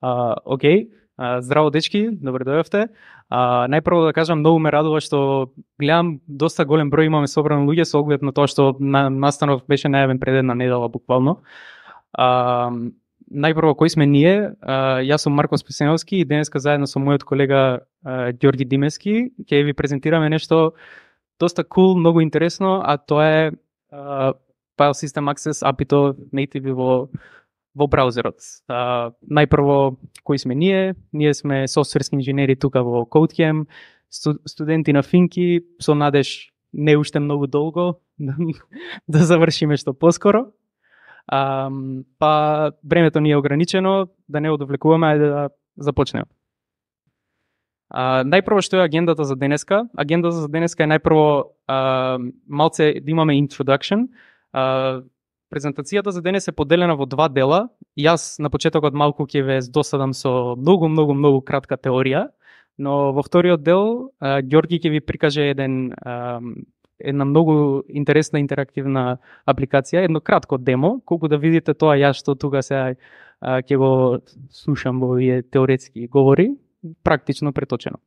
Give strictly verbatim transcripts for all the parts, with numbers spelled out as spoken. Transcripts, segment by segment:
А, окей, а, здраво дечки, добре дојавте. А, најпрво да кажам, многу ме радува што гледам доста голем број имаме собрано луѓе со оглед на тоа што на, настанов беше најавен пред една недела буквално. А, најпрво кои сме ние? А, јас сум Марко Спасеновски и денеска заедно со мојот колега а, Ѓорги Димески ќе ви презентираме нешто доста cool, многу интересно, а тоа е а, File System Access ей пи ай-то native во во браузерот. А, најпрво, кои сме ние? Ние сме софтверски инженери тука во CodeCamp, сту, студенти на Финки, со надеж не уште многу долго да завршиме што поскоро. А, па времето ни е ограничено, да не одовлекуваме, ајде да започнеме. А, најпрво што е агендата за денеска? Агендата за денеска е најпрво а, малце да имаме introduction. А, презентацијата за денес е поделена во два дела. Јас на почетокот малку ќе ве досадам со многу, многу, многу кратка теорија, но во вториот дел а, Ѓорги ќе ви прикаже еден, а, една многу интересна интерактивна апликација, едно кратко демо, колку да видите тоа јас што тука се ќе го слушам во овие теоретски говори, практично преточено.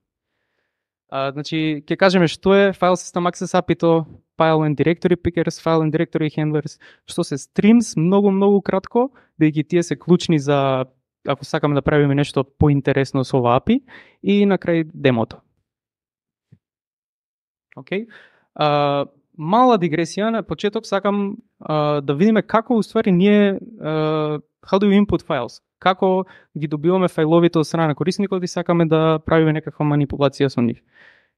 А, значи, ќе кажеме што е File System Access ей пи ай, File and Directory Pickers, File and Directory Handlers, што се Streams, многу, многу кратко, бидејќи тие се клучни за, ако сакаме да правиме нешто поинтересно со ова ей пи и, и на крај демото. Океј. Okay. Мала дигресија на почеток, сакам uh, да видиме како уствари ние uh, how do we input files, како ги добиваме фајловите од страна на корисникот и сакаме да правиме некаква манипулација со нив.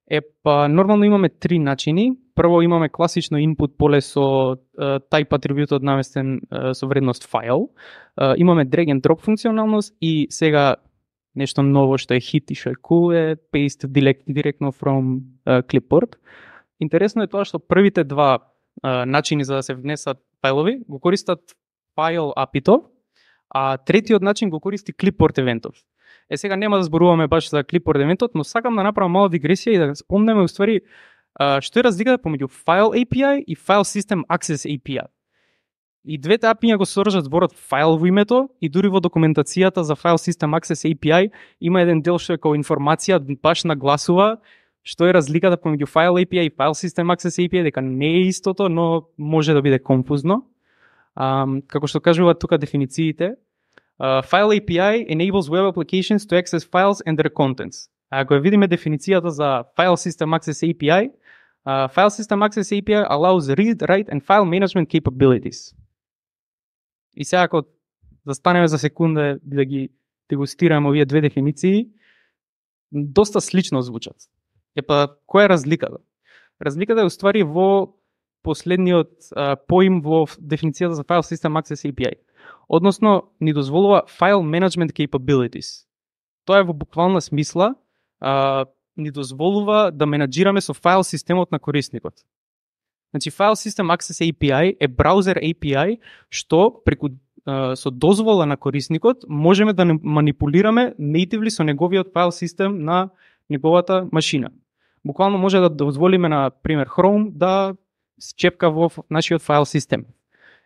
Е, па, нормално имаме три начини. Прво имаме класично input поле со uh, type атрибутот наместен uh, со вредност файл. Uh, имаме drag and drop функционалност и сега нешто ново што е hit и што е cool е paste direct, директно from uh, clipboard. Интересно е тоа што првите два uh, начини за да се внесат фајлови го користат file ей пи ай, а третиот начин го користи clipboard евентот. Е, сега нема да зборуваме баш за clipboard евентот, но сакам да направам мала дигресија и да спомнеме уствари uh, што е разликата помеѓу File ей пи ай и File System Access ей пи ай. И двете ей пи ай го содржат зборот файл во името и дури во документацијата за File System Access ей пи ай има еден дел што е како информација баш нагласува што е разликата помеѓу File ей пи ай и File System Access ей пи ай, дека не е истото, но може да биде конфузно. Um, како што кажуваат тука дефинициите, uh, File ей пи ай enables web applications to access files and their contents. Ако ја видиме дефиницијата за File System Access ей пи ай, uh, File System Access ей пи ай allows read, write and file management capabilities. И сега ако застанеме за секунда да ги дегустираме овие две дефиниции, доста слично звучат. Епа, која е разликата? Разликата е уствари во последниот а, поим во дефиницијата за File System Access ей пи ай. Односно, ни дозволува File Management Capabilities. Тоа е во буквална смисла, а, ни дозволува да менаџираме со файл системот на корисникот. Значи, File System Access ей пи ай е браузер ей пи ай што преку а, со дозвола на корисникот можеме да манипулираме natively со неговиот файл систем на неговата машина. Буквално може да дозволиме на пример Chrome да счепка во нашиот файл систем.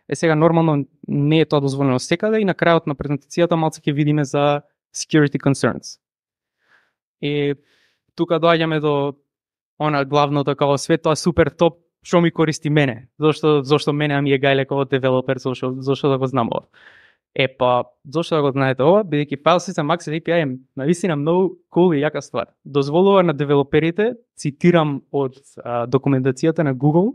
Е, сега нормално не е тоа дозволено секаде и на крајот на презентацијата малце ќе видиме за security concerns. И тука доаѓаме до она главното, како све тоа супер топ, што ми користи мене. Зошто зошто мене ми е гајле како девелопер, зошто зошто да го знам ова. Е, па, зошто да го знаете ова? Бидејќи File System Access ей пи ай е навистина многу cool и јака ствар. Дозволува на девелоперите, цитирам од а, документацијата на Google,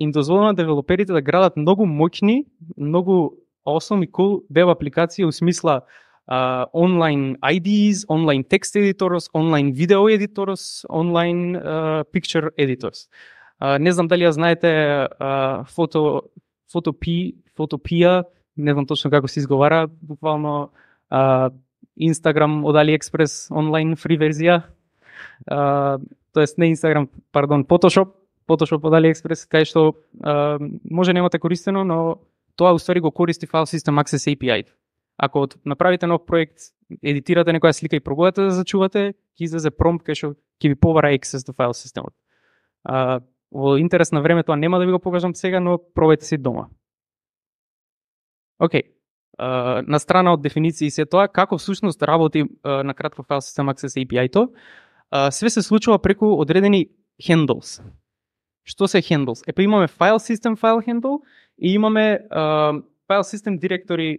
им дозволува на девелоперите да градат многу моќни, многу awesome и cool веб апликации у смисла uh, онлайн ай ди ес, онлайн text editors, онлайн video editors, онлайн uh, picture editors. Uh, не знам дали ја знаете uh, фото, фотопи, фотопија, не знам точно како се изговара, буквално uh, Instagram од AliExpress онлайн фри верзија, uh, тоест не Instagram, пардон, Photoshop, Photoshop од AliExpress, кај што uh, може немате користено, но тоа уствари го користи File System Access ей пи ай. Ако направите нов проект, едитирате некоја слика и пробувате да зачувате, ќе излезе промпт кај што ќе ви побара access до файл системот. Uh, во интерес на време тоа нема да ви го покажам сега, но пробајте си дома. Океј. uh, на страна од дефиниции се тоа, како всушност работи uh, на кратко File System Access A P I-то, uh, све се случува преку одредени handles. Што се handles? Епа имаме File System File Handle и имаме uh, File System Directory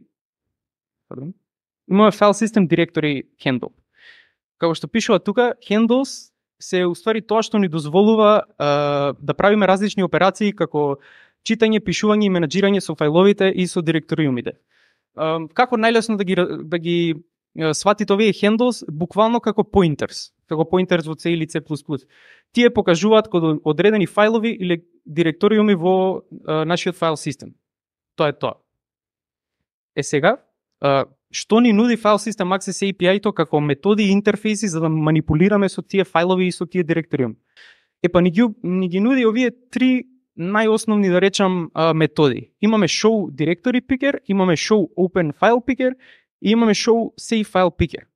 Pardon? Имаме File System Directory Handle. Како што пишува тука, handles се уствари тоа што ни дозволува uh, да правиме различни операции како читање, пишување и менаџирање со фајловите и со директориумите. Uh, како најлесно да ги да ги uh, сватите овие handles буквално како pointers, како pointers во C или C++. Тие покажуваат кога одредени фајлови или директориуми во uh, нашиот файл систем. Тоа е тоа. Е сега, uh, што ни нуди File System Access A P I-то како методи и интерфейси за да манипулираме со тие фајлови и со тие директориуми? Епа ни ги, ни ги нуди овие три најосновни, да речам, методи. Имаме Show Directory Picker, имаме Show Open File Picker и имаме Show Save File Picker.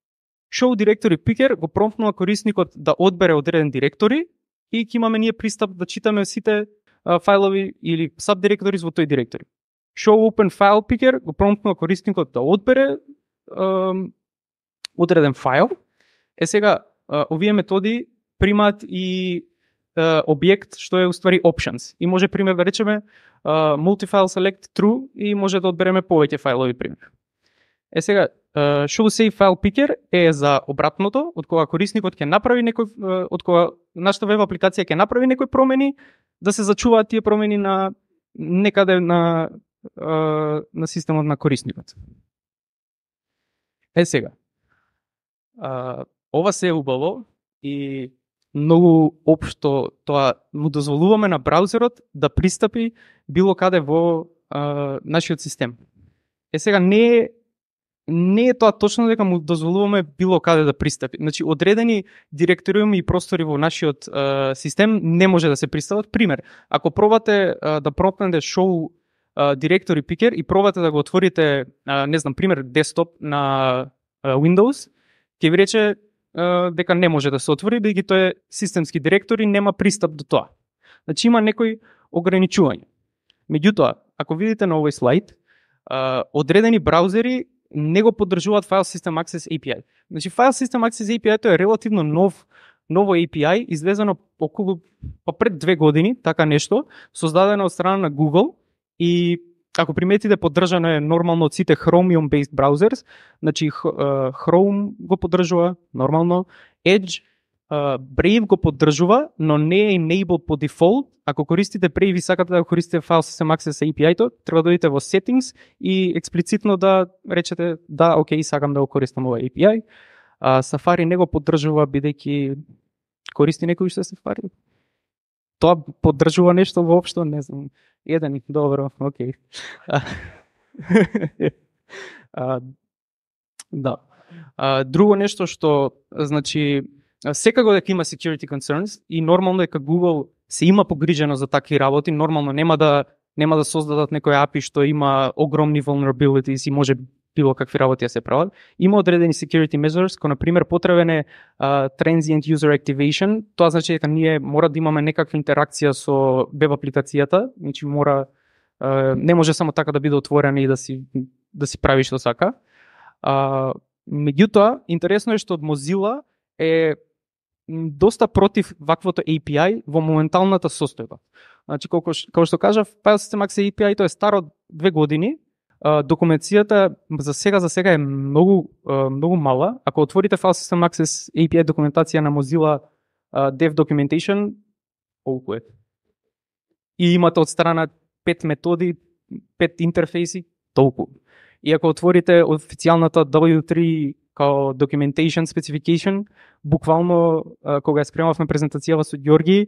Show Directory Picker го промптнува корисникот да одбере одреден директори и ќе имаме ние пристап да читаме сите фајлови или subdirectories во тој директори. Show Open File Picker го промптнува корисникот да одбере um, одреден файл. Е сега, uh, овие методи примаат и uh, објект што е уствари options. И може пример да речеме uh, multi-file select true и може да одбереме повеќе фајлови пример. Е сега, uh, Show Save File Picker е за обратното, од кога корисникот ќе направи некој, uh, од кога нашата веб апликација ќе направи некои промени, да се зачуваат тие промени на некаде на на системот на корисникот. Е сега, а, ова се е убаво и многу општо тоа му дозволуваме на браузерот да пристапи било каде во а, нашиот систем. Е сега, не е, не е тоа точно дека му дозволуваме било каде да пристапи. Значи, одредени директориуми и простори во нашиот а, систем не може да се пристапат. Пример, ако пробате а, да пропнете show Uh, Directory Picker и пробате да го отворите, uh, не знам, пример, десктоп на uh, Windows, ќе ви рече uh, дека не може да се отвори, бидејќи тоа е системски директор и нема пристап до тоа. Значи има некои ограничувања. Меѓутоа, ако видите на овој слайд, uh, одредени браузери не го поддржуваат File System Access A P I. Значи File System Access A P I тоа е релативно нов ново A P I, извезено околу па пред две години, така нешто, создадено од страна на Google. И ако приметите, поддржано е нормално од сите Chromium-based browsers, значи Chrome го поддржува нормално, Edge, Brave го поддржува, но не е enabled по дефолт. Ако користите Brave и сакате да користите File System Access A P I-то, треба да одите во Settings и експлицитно да речете да, окей, сакам да го користам ова A P I. Safari не го поддржува бидејќи користи некој што Safari. Тоа поддржува нешто воопшто, не знам. Еден, добро, окей. а, да. А, друго нешто што, значи, секако дека има security concerns и нормално дека Google се има погрижено за такви работи, нормално нема да нема да создадат некој A P I што има огромни vulnerabilities и може било какви работи да се прават. Има одредени security measures, кој на пример потребен е uh, transient user activation. Тоа значи дека ние мора да имаме некаква интеракција со веб апликацијата, значи мора uh, не може само така да биде отворена и да си да си прави што сака. Uh, меѓутоа, интересно е што од Mozilla е доста против ваквото A P I во моменталната состојба. Значи колку како што кажав, File System Access A P I тоа е стар од две години. Uh, документацијата за сега за сега е многу uh, многу мала. Ако отворите File System Access A P I документација на Mozilla uh, Dev Documentation, колку е? И имате од страна пет методи, пет интерфейси, толку. И ако отворите официјалната W три као Documentation Specification, буквално uh, кога ја спремавме презентацијава со Ѓорги,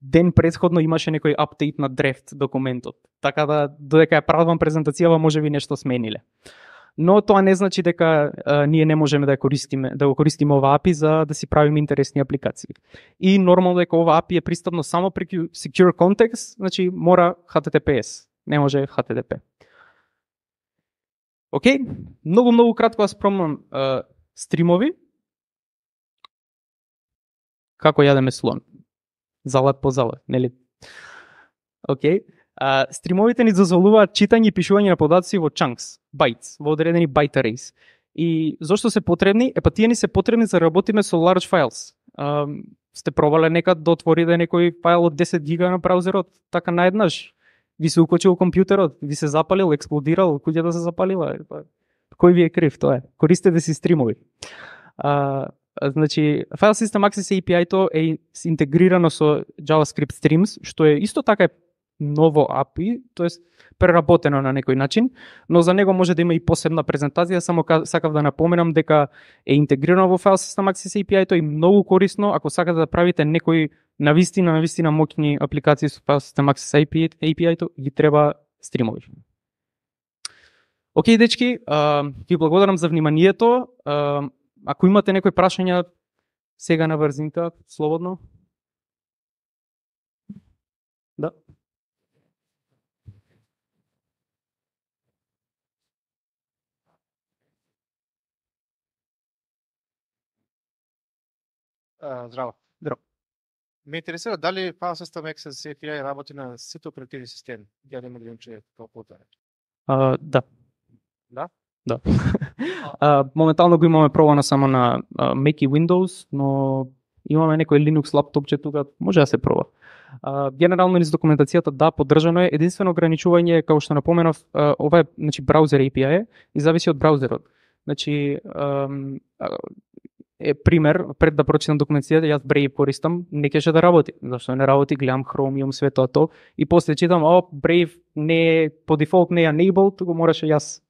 ден претходно имаше некој апдейт на дрефт документот. Така да, додека ја правам презентацијава, може би нешто смениле. Но тоа не значи дека а, ние не можеме да ја користиме, да го користиме ова A P I за да си правиме интересни апликации. И нормално дека ова A P I е пристапно само преку Secure Context, значи мора H T T P S, не може H T T P. Океј, многу многу кратко ја спромнам а, стримови. Како јадеме слон? Залат по залат, нели? Океј. А, стримовите ни дозволуваат читање и пишување на податоци во chunks, bytes, во одредени byte arrays. И зошто се потребни? Е па тие ни се потребни за да работиме со large files. А, сте пробале некад да отворите некој файл од десет гига на браузерот, така наеднаш? Ви се укочил компјутерот, ви се запалил, експлодирал, куќата се запалила. Кој ви е крив, тоа е. Користете си стримови. А, значи, File System Access A P I-то е интегрирано со JavaScript Streams, што е исто така е ново A P I, тоест преработено на некој начин, но за него може да има и посебна презентација, само сакав да напоменам дека е интегрирано во File System Access A P I-то и многу корисно ако сакате да правите некои навистина, навистина моќни апликации со File System Access A P I-то, ги треба стримови. Океј, дечки, ви благодарам за вниманието. Ако имате некои прашања, сега на брзинка, слободно. Да. Uh, здраво. Здраво. Ме интересира дали File System Access A P I работи на сите оперативни системи. Ја нема да че како потварда. Uh, да. Да? Да. uh, моментално го имаме пробано само на uh, Mac и Windows, но имаме некој Linux лаптопче тука, може да се проба. Uh, генерално низ документацијата да, поддржано е. Единствено ограничување, како што напоменав, uh, ова е, значи, браузер A P I е и зависи од браузерот. Значи, um, е пример, пред да прочитам документацијата, јас Brave користам, не кеше да работи. Зашто не работи, гледам Chromium, све тоа то, и после читам, о, Brave не е, по дефолт не е enabled, туку мораше јас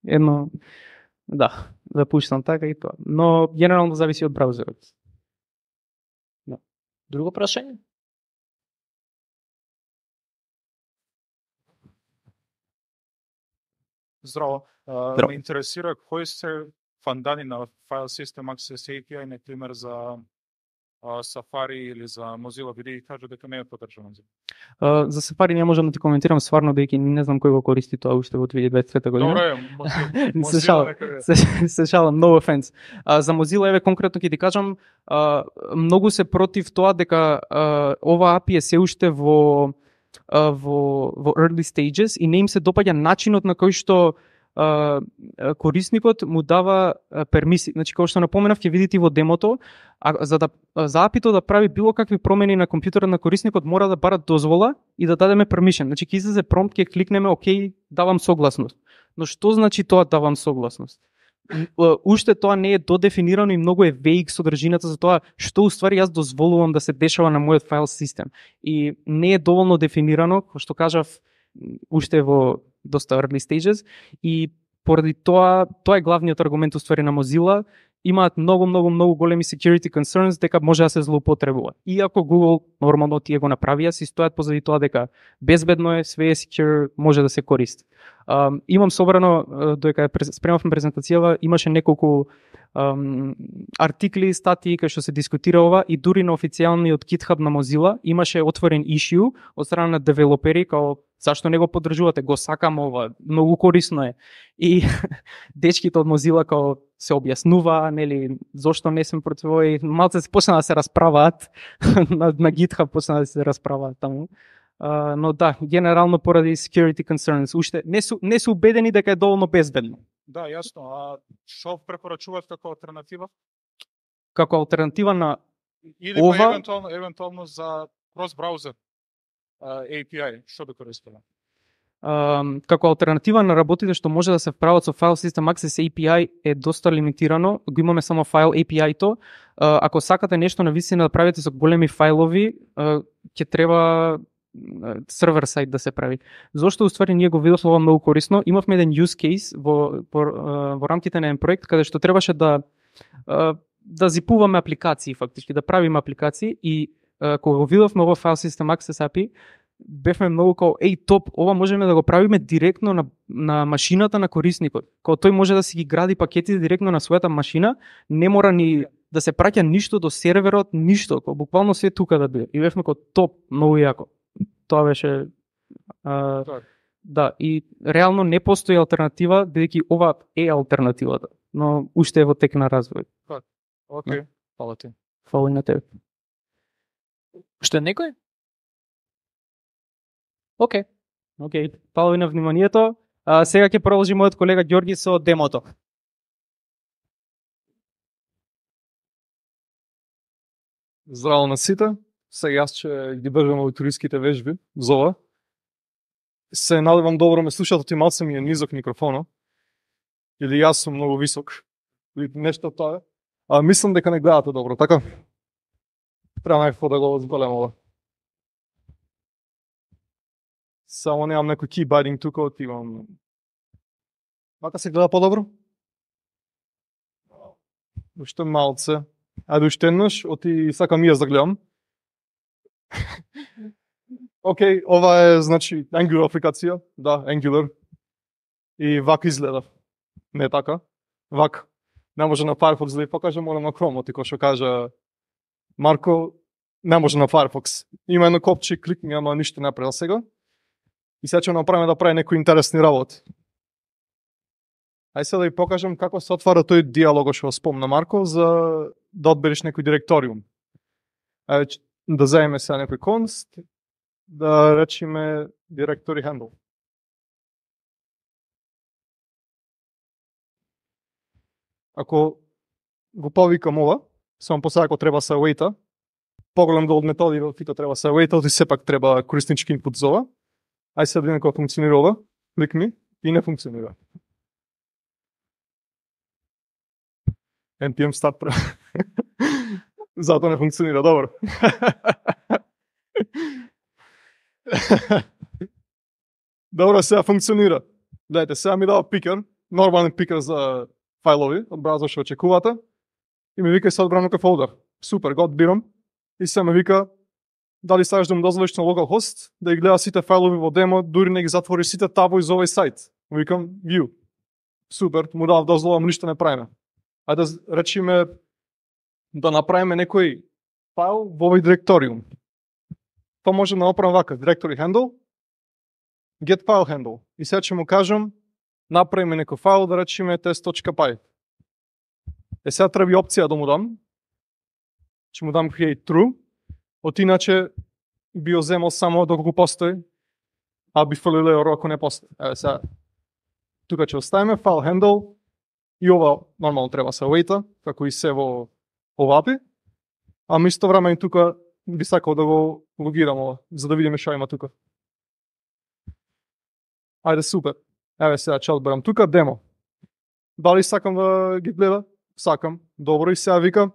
едно, да, да пуштам така и тоа. Но генерално зависи од браузерот. Да. Друго прашање? Здраво. Uh, Здраво. Ме интересира кои се фандани на File System Access A P I, например за uh, Safari или за Mozilla, биде и кажа дека не е поддржано. Uh, за Safari не можам да ти коментирам стварно, дека не знам кој го користи тоа уште во две илјади и дваесет и трета година. Добре, Mozilla. се шалам, се, се шалам, no offense. Uh, за Mozilla, еве конкретно ќе ти кажам, uh, многу се против тоа дека uh, ова A P I е се уште во uh, во во early stages и не им се допаѓа начинот на кој што Uh, корисникот му дава uh, пермиси. Значи, како што напоменав, ќе видите во демото, а, за да за A P I-то да прави било какви промени на компјутерот на корисникот, мора да бара дозвола и да дадеме permission. Значи, ќе излезе промпт, ќе кликнеме окей, давам согласност. Но што значи тоа давам согласност? Uh, уште тоа не е додефинирано и многу е vague содржината за тоа што уствари јас дозволувам да се дешава на мојот файл систем. И не е доволно дефинирано, како што кажав, уште во доста early stages, и поради тоа, тоа е главниот аргумент уствари на Mozilla, имаат многу, многу, многу големи security concerns дека може да се злоупотребува. Иако Google нормално тие го направија, си стојат позади тоа дека безбедно е, све е secure, може да се користи. Um, имам собрано, додека спремавме презентацијава, имаше неколку um, артикли, статии кај што се дискутира ова и дури на официјалниот GitHub на Mozilla имаше отворен issue од страна на девелопери, као зашто не го поддржувате, го сакам ова, многу корисно е. И дечките од Mozilla као се објаснува, нели, зошто не сме против ова, и малце се почна да се расправаат на, на GitHub, почна да се расправаат таму. Uh, но да, генерално поради security concerns, уште не су не су убедени дека е доволно безбедно. Да, јасно. А што препорачуваат како алтернатива? Како алтернатива на Или ова... па евентуално евентуално за cross browser uh, A P I, што би користело? Uh, како алтернатива на работите што може да се вправат со File System Access A P I е доста лимитирано. Го имаме само файл A P I-то. Uh, ако сакате нешто на вистина да правите со големи фајлови, uh, ќе треба сервер сайт да се прави. Зошто уствари ние го видовме ова многу корисно. Имавме еден use case во во, во рамките на еден проект каде што требаше да да зипуваме апликации фактички, да правиме апликации и кога го видовме ова File System Access A P I, бевме многу као еј топ, ова можеме да го правиме директно на на машината на корисникот. Као тој може да си ги гради пакети директно на својата машина, не мора ни да се праќа ништо до серверот, ништо, као буквално се тука да биде. И бевме као топ, многу јако. Тоа беше а, да, и реално не постои алтернатива, бидејќи ова е алтернативата, но уште е во тек на развој. Океј, фала ти. Фала и на тебе. Што е некој? Океј. Океј, фала ви на вниманието. А, сега ќе продолжи мојот колега Ѓорги со демото. Здраво на сите. Сега јас ќе ги држам аудиториските вежби за ова. Се надевам добро ме слушате, ти малце ми е низок микрофонот. Или јас сум многу висок. Или нешто тоа. А мислам дека не гледате добро, така? Треба некако да го зголем ова. Само немам некој keybiting тука, отивам. Вака се гледа подобро? Уште малце. Ајде уште еднаш, оти сакам и јас да гледам. Океј, ова е, значи, Angular апликација. Да, Angular. И вака изгледа. Не така. Вака. Не може на Firefox да ви покажам, морам на Chrome, оти кој што кажа Марко, не може на Firefox. Има едно копче, кликни, ама ништо не направил сега. И сега ќе направиме да прави некои интересни работи. Ај сега да ви покажам како се отвара тој диалог што спомна Марко за да одбереш некој директориум. Ај да заеме сега некој конст, да речеме directory handle. Ако го повикам ова, само после ако треба се await-а, поголем дел од методи во фито треба се await-а, и сепак треба кориснички инпут за ова. Ај сега да видиме како функционира ова, клик ми и не функционира. Ен пи ем start пре. Затоа не функционира, добро. Добро, сега функционира. Гледайте, сега ми дава пикер, нормален пикер за файлови, од браузер што очекувате, и ми вика се одбрам некој фолдер. Супер, го одбирам, и сега ме вика дали сакаш да му дозволиш на localhost да ги гледа сите файлови во демо, дури не ги затвори сите табови за овој сајт. Му викам view. Супер, му дав дозвола, му ништо не правиме. Ајде да речиме да направиме некој файл во овој директориум. Тоа може да направам вака, directory handle, get file handle. И сега ќе му кажам, направиме некој файл, да речеме test.py. Е сега треба опција да му дам. Ќе му дам create true. От иначе би го земал само доколку постои, а би фрлил error ако не постои. Еве сега, тука ќе оставиме file handle и ова нормално треба се await-а, како и се во ова ей пи ай. А исто време и тука би сакал да го логирам ова, за да видиме што има тука. Ајде супер. Еве сега ќе одберам тука демо. Дали сакам да ги гледа? Сакам. Добро, и сега вика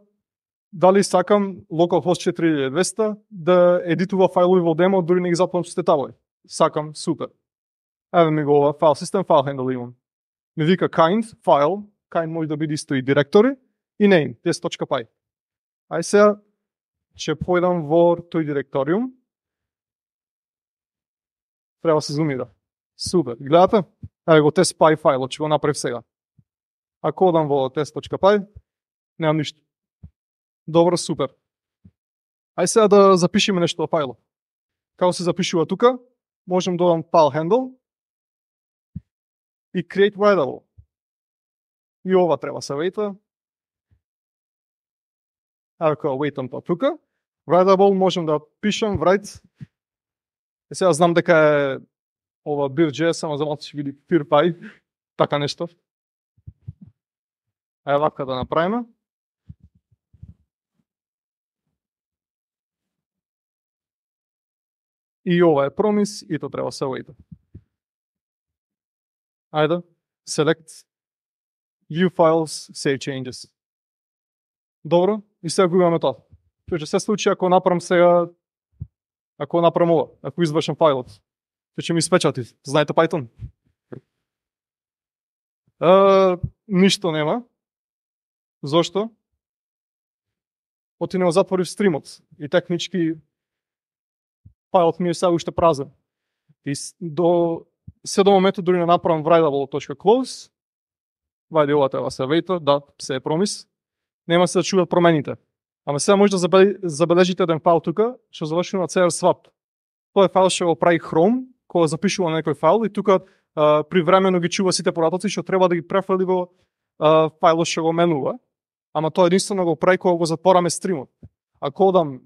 дали сакам localhost четири илјади и двесте да едитува файлови во демо, дури не ги затворам сите табови. Сакам, супер. Еве ми го ова, файл систем, файл handle имам. Ми вика kind, файл, kind може да биде исто и директори, и name, test.py. Ај сега ќе појдам во тој директориум. Треба се зумира. Супер, гледате? Еве го test.py файлот, ќе го направив сега. Ако одам во test.py, немам ништо. Добро, супер. Ај сега да запишеме нешто во фајлот. Како се запишува тука, можем да додам file handle и create writable. И ова треба се await-а. Ако await-ам тоа тука, writable можем да пишем write. Е сега знам дека е ова bir.js, само за малку ќе види PyPy, така нешто. Ај вака да направиме. И ова е промис, и тоа треба се await-а. Ајде, select, view files, save changes. Добро, и сега го имаме тоа. Што ќе се случи ако направам сега, ако направам ова, ако извршам файлот, што ќе ми испечати. Знаете Python? Uh, ништо нема. Зошто? Оти не го затворив стримот и технички файлот ми е сега уште празен. И до се до моментот дури не направам writable.close. Вајде ова треба се await-а, да, се е промис. Нема се да чуваат промените. Ама сега може да забележите еден файл тука, што завршува на си ар swap. Тоа е файл што го прави Chrome, кога запишува на некој файл и тука а, привремено ги чува сите поратоци што треба да ги префрли во а, фајлот што го менува. Ама тоа единствено го прави кога го затвораме стримот. Ако одам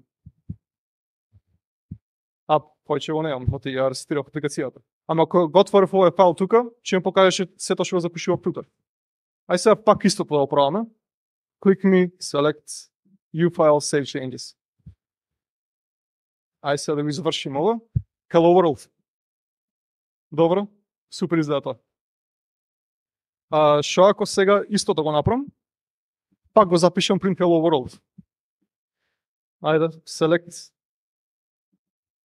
а повеќе го немам, оти ја рестирав апликацијата. Ама ако го отворив овој файл тука, ќе ми покажеше сето што го запишував тука. Ај сега пак истото да го пробаме. Click me, select U file, save changes. Ај сега да го завршим ова. Hello world. Добро, супер изгледа тоа. А шо ако сега истото го направам, пак го запишам print hello world. Ајде, select.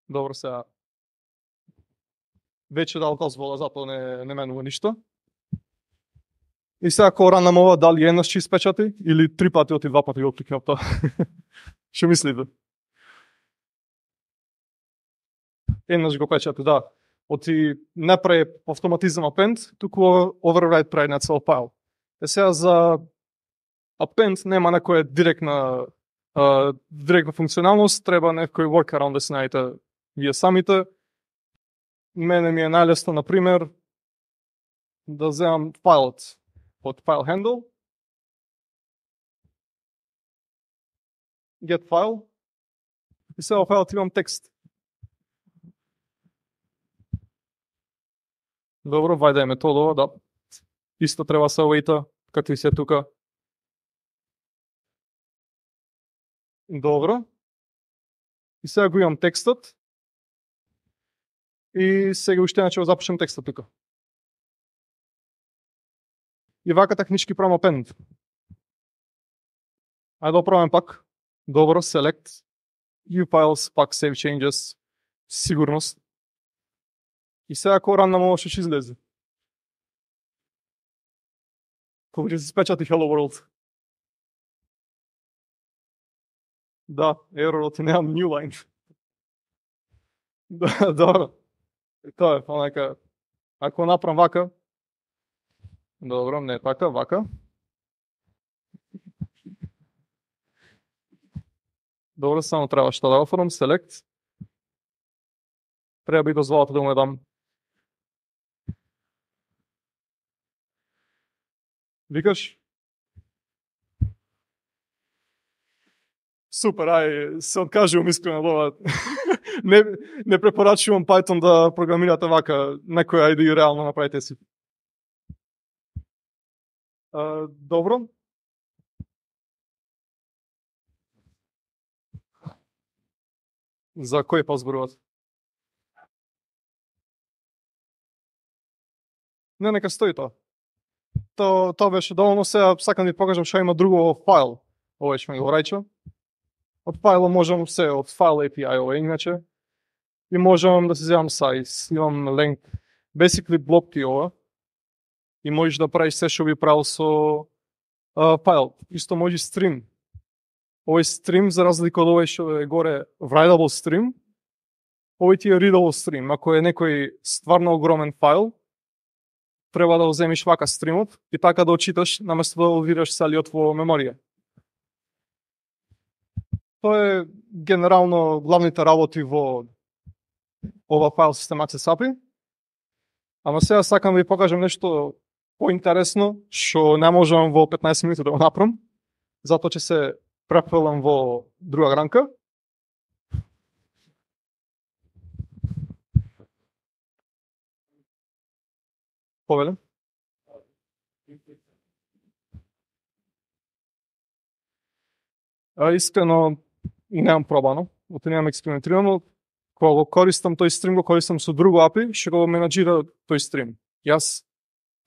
Добро, сега веќе дал дозвола, затоа не, не менува ништо. И сега ако ранам ова, дали еднаш ќе испечати или три пати оти два пати го кликнам тоа. Што мислите? Еднаш го печати, да. Оти не прави автоматизам append, туку override прави на цел файл. Е сега за append нема некоја директна uh, директна функционалност, треба некој workaround да се најдете вие самите. Мене ми е најлесно, на пример, да земам файлот од file handle, get file, и сега во файлот имам текст. Добро, вајде е методова, да. Исто треба се await-а, како и се тука. Добро. И сега го имам текстот. И сега уште ќе го запишем текстот тука. И вака технички правам append. Ајде да пробаме пак. Добро, select U files, пак save changes, сигурност. И сега ако ранам ово што ќе излезе. Кога ќе се спечати Hello World. Да, еророт и немам new line. Да, добро. И тоа е, па нека, ако направам вака, добро, не така, вака. Добро, само треба што да го оформам, select. Треба би дозволата да му дам. Викаш? Супер, ај, се откажувам искрено од ова. не, не препорачувам Python да програмирате вака, некој ајде и реално направите си. А, добро. За кој па зборуват? Не, нека стои тоа. То, тоа беше доволно, сега сакам да ви покажам што има друго во файл. Ова ќе ме го рајчо. Од файло можам се, од файл A P I ова иначе. И можам да се земам size, имам length. Basically блок ти ова. И можеш да правиш се што би правил со uh, файл. Исто може stream. Овој stream, за разлика од овој што е горе writable stream, овој ти е readable stream. Ако е некој стварно огромен файл, треба да го земиш вака стримот и така да очиташ, наместо да го видиш целиот во меморија. Тоа е генерално главните работи во ова файл систем Access A P I. Ама сега сакам да ви покажам нешто поинтересно, што не можам во петнаесет минути да го направам, затоа ќе се префрлам во друга гранка. Повеле. А, искрено немам пробано, оти немам експериментирано. Кога го користам тој стрим, го користам со друго A P I, што го менаџира тој стрим. Јас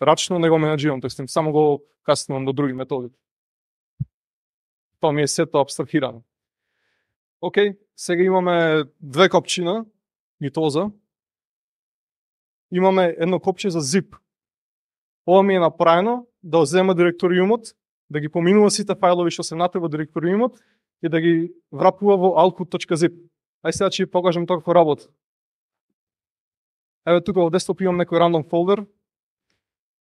рачно не го менаџирам тој стрим, само го каснувам до други методи. Тоа ми е сето абстрахирано. Океј, сега имаме две копчина, гитоза. Имаме едно копче за zip. Ова ми е направено да земе директориумот, да ги поминува сите фајлови што се внатре во директориумот и да ги врапува во output.zip. Ај сега ќе ви покажам тоа како работи. Еве тука во десктоп имам некој рандом фолдер.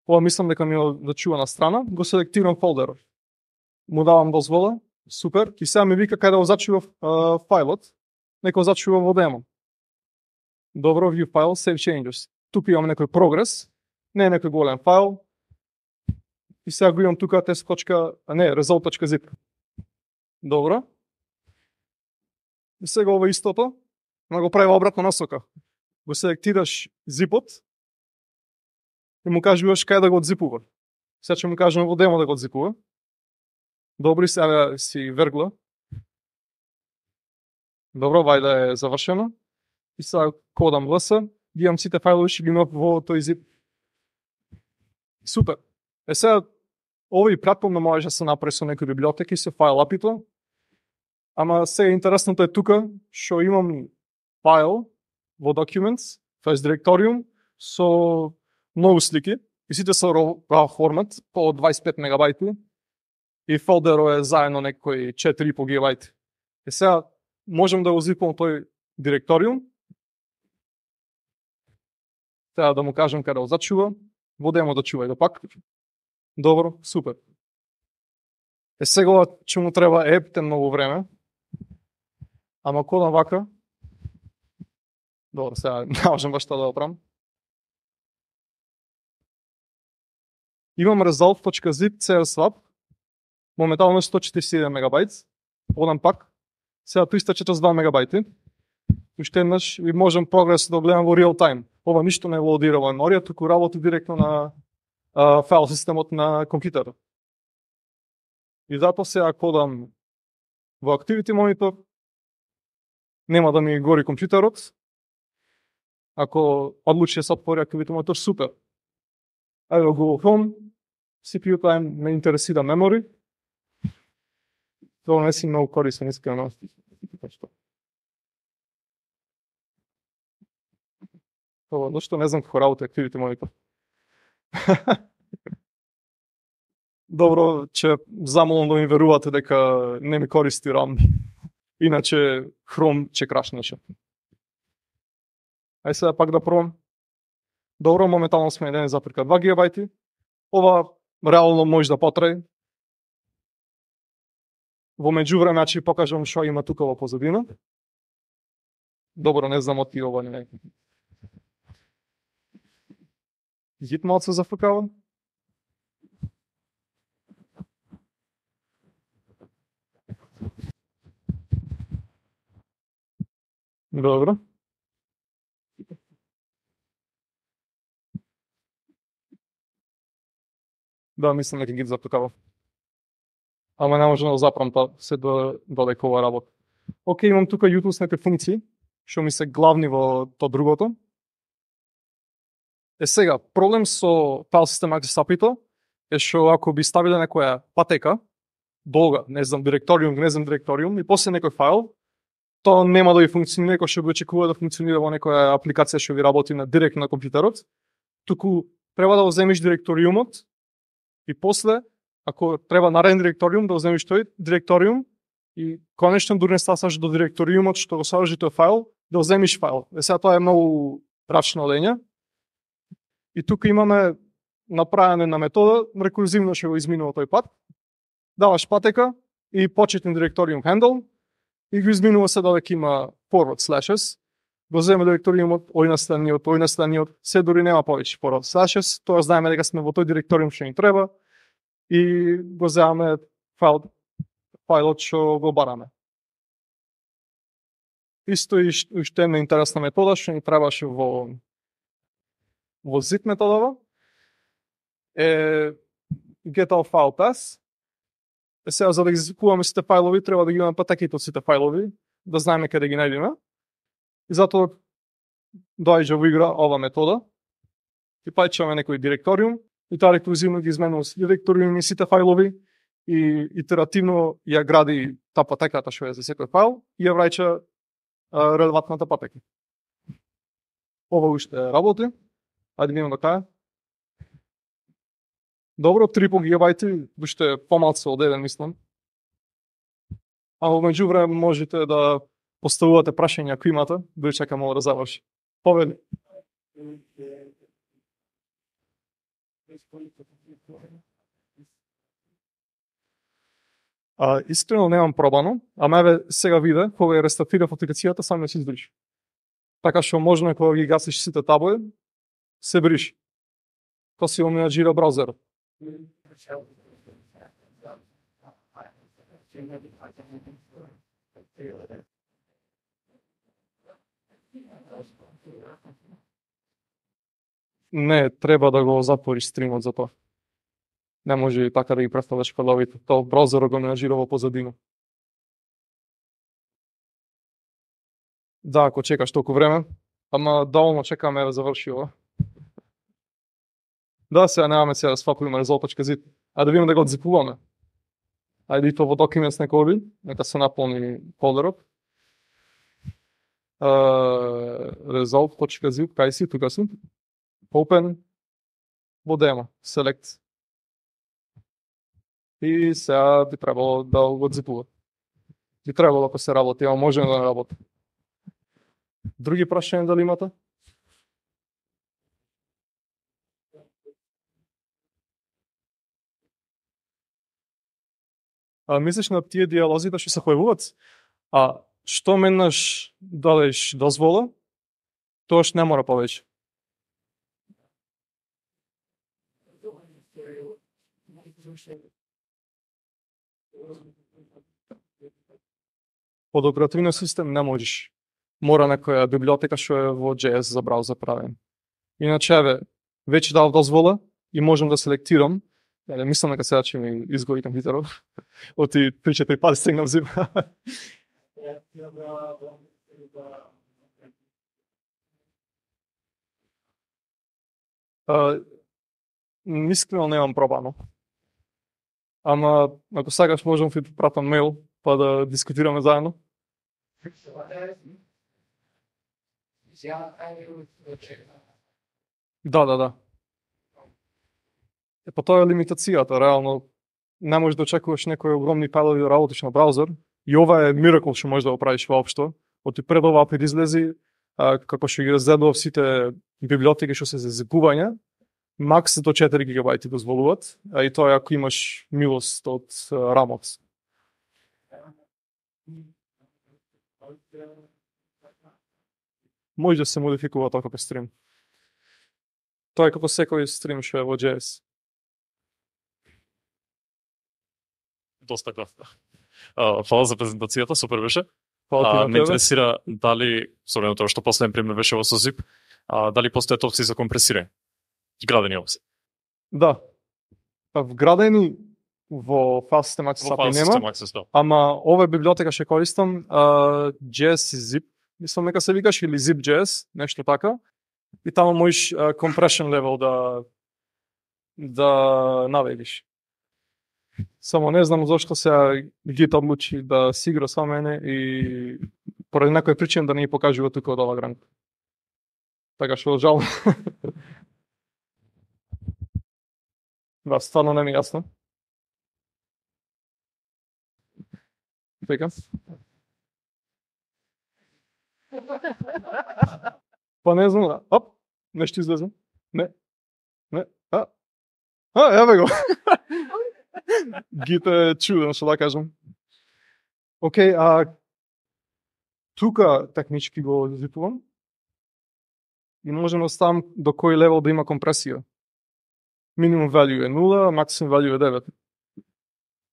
Ова мислам дека ми да чува на страна, го селектирам фолдерот. Му давам дозвола, супер, и сега ми вика кај да го зачува uh, фајлот, нека го зачува во демо. Добро, view file, save changes. Тука имам некој прогрес, не е некој голем файл. И сега го имам тука test. А не, result.zip. Добро. И сега ова истото, ама го прави во обратна насока. Го селектираш зипот и му кажуваш кај да го одзипува. Сега ќе му кажем во демо да го одзипува. Добри, сега си вергла. Добро, вајда е завршено. И сега кодам ls, ги имам сите фајлови што ги имам во тој zip. Супер. Е сега, овој пратпомно може да се направи со некои библиотеки, со файл апито. Ама сега интересното е тука, што имам файл во Documents, тоест директориум, со многу слики, и сите се RAW формат, по дваесет и пет мегабајти, и фолдерот е заедно некои четири и по гигабајти. И сега можам да го зипам тој директориум, сега да му кажем каде го зачува, во демо да чувај да пак. Добро, супер. Е сега ќе му треба епте многу време, ама кодам вака. Добро, сега не можам баш тоа да го правам. Имам result.zip cswap, моментално сто четиридесет и еден мегабајт, одам пак, сега триста и четирдесет и два мегабајти, уште еднаш и можем прогрес да гледам во real time. Ова ништо не лоадира во меморија, туку работи директно на а, файл системот на компјутерот. И затоа сега кодам во Activity Monitor, нема да ми гори компјутерот. Ако одлучи да се отвори Activity Monitor, супер. Ајде Google Chrome, си пи ю time ме интересира memory. Тоа не си многу корисен, искрено. Ова, зашто не знам како работи Activity Monitor. Добро, ќе замолам да ми верувате дека не ми користи RAM. Иначе Chrome ќе крашнеше. Ај сега пак да пробам. Добро, моментално сме еден запирка два гигабајти. Ова реално може да потрае. Во меѓувреме ќе ви покажам што има тука во позадина. Добро, не знам оти ова не. Гит малце зафркава. Добро. Да, мислам дека ги зафркава. Ама не можам да запрам тоа, се до додека ова работа. Океј, имам тука utility функции, што ми се главни во тоа другото. Е сега, проблем со файл систем Access ей пи ай-то е што ако би ставиле некоја патека, долга, не знам, директориум, не знам директориум, и после некој файл, тоа нема да ви функционира како што би очекува да функционира во некоја апликација што ви работи на директно на компјутерот, туку треба да го земиш директориумот и после, ако треба нареден директориум, да го земиш тој директориум и конечно дури не стасаш до директориумот што го содржи тој файл, да го земиш файл. Е сега тоа е многу рачно лење. И тука имаме направена на метода, рекурзивно ќе го изминува тој пат. Даваш патека и почетен директориум handle и го изминува се додека има forward slashes. Го земе директориумот, ој на страниот, ој на страниот, се дури нема повеќе forward slashes, тоа знаеме дека сме во тој директориум што ни треба и го земаме файл, файлот што го бараме. Исто и уште една интересна метода што ни требаше во во zip методава е get all file path. Е сега за да ги изискуваме сите фајлови треба да ги имаме патеките од сите фајлови, да знаеме каде ги најдеме. И затоа доаѓа во игра ова метода. И пајчаме некој директориум и тоа рекурзивно ги изменува сите директориуми, сите фајлови и итеративно ја гради таа патеката што е за секој файл и ја враќа релевантната патека. Ова уште работи. Ајде видиме до кај. Добро, три гигабајти, уште помалку од еден мислам. А во меѓувреме можете да поставувате прашања ако имате, да чекам ова да заврши. Повели. А, искрено немам пробано, ама еве сега виде, кога ја рестартирав апликацијата, само се избриши. Така што можно е кога ги гасиш сите табови, се бриши. Тоа си менаџира браузерот. Не, треба да го затвориш стримот за тоа. Не може и така да ги представаш файловите. Тоа браузерот го менаџира во позадина. Да, ако чекаш толку време, ама доволно чекаме да заврши ова. Да, сега немаме сега да свапуваме резултат.zip, а да видиме да го отзипуваме. Ајде и тоа во Documents нека оди, нека се наполни фолдерот. Uh, result.zip, кај си, тука сум. Open, во demo, select. И сега би требало да го отзипува. Би требало ако се работи, ама може да не работи. Други прашања дали имате? А мислиш на тие диалозите што се појавуваат? А што менаш дадеш дозвола, тоаш не мора повеќе. Под оперативниот систем не можеш. Мора некоја библиотека што е во джей ес за браузер правен. Иначе, еве, веќе дав дозвола и можам да селектирам. Еле, мислам дека сега ќе ми изгори компјутерот. Оти три-четири пати стегнав зим. Искрено немам пробано. Ама, ако сакаш, можам да ти пратам мейл, па да дискутираме заедно. Да, да, да. Е, па тоа е лимитацијата, реално. Не можеш да очекуваш некои огромни файлови да работиш на браузер. И ова е миракл што можеш да го правиш воопшто. Оти пред ова апет излези, а, како што ги разгледував сите библиотеки што се за зипување, макс до четири гигабајти дозволуваат, а и тоа ако имаш милост од рамот. Може да се модификува тоа како стрим. Тоа е како секој стрим што е во джей ес. Доста кратко. Фала за презентацијата, супер беше. Фала ти А, на ме тебе. интересира дали, со оглед на тоа што последен пример беше во со zip, а, дали постојат опции за компресирање? Градени опции. Да. Па вградени во файл систем Access Во ей пи ай файл нема, систем Access, да. ама ова библиотека што користам, а, джей ес и zip, мислам нека се викаш или zip.js, нешто така. И таму можеш а, compression level да да наведиш. Само не знам зошто сега Git одлучи да си игра со мене и поради некоја причина да не ја покажува тука од ова гранка. Така што жал. Да, стварно не ми е јасно. Така. Па не знам, оп, нешто излезе. Не, не, а, а, еве го. Git е чуден, што да кажам. Океј, а тука технички го зипувам и можем да ставам до кој левел да има компресија. Minimum value е нула, maximum value е девет.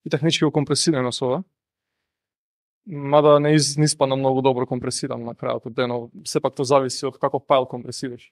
И технички го компресираме со ова. Мада не, из, не испадна многу добро компресиран на крајот од денот. Сепак тоа зависи од каков файл компресираш.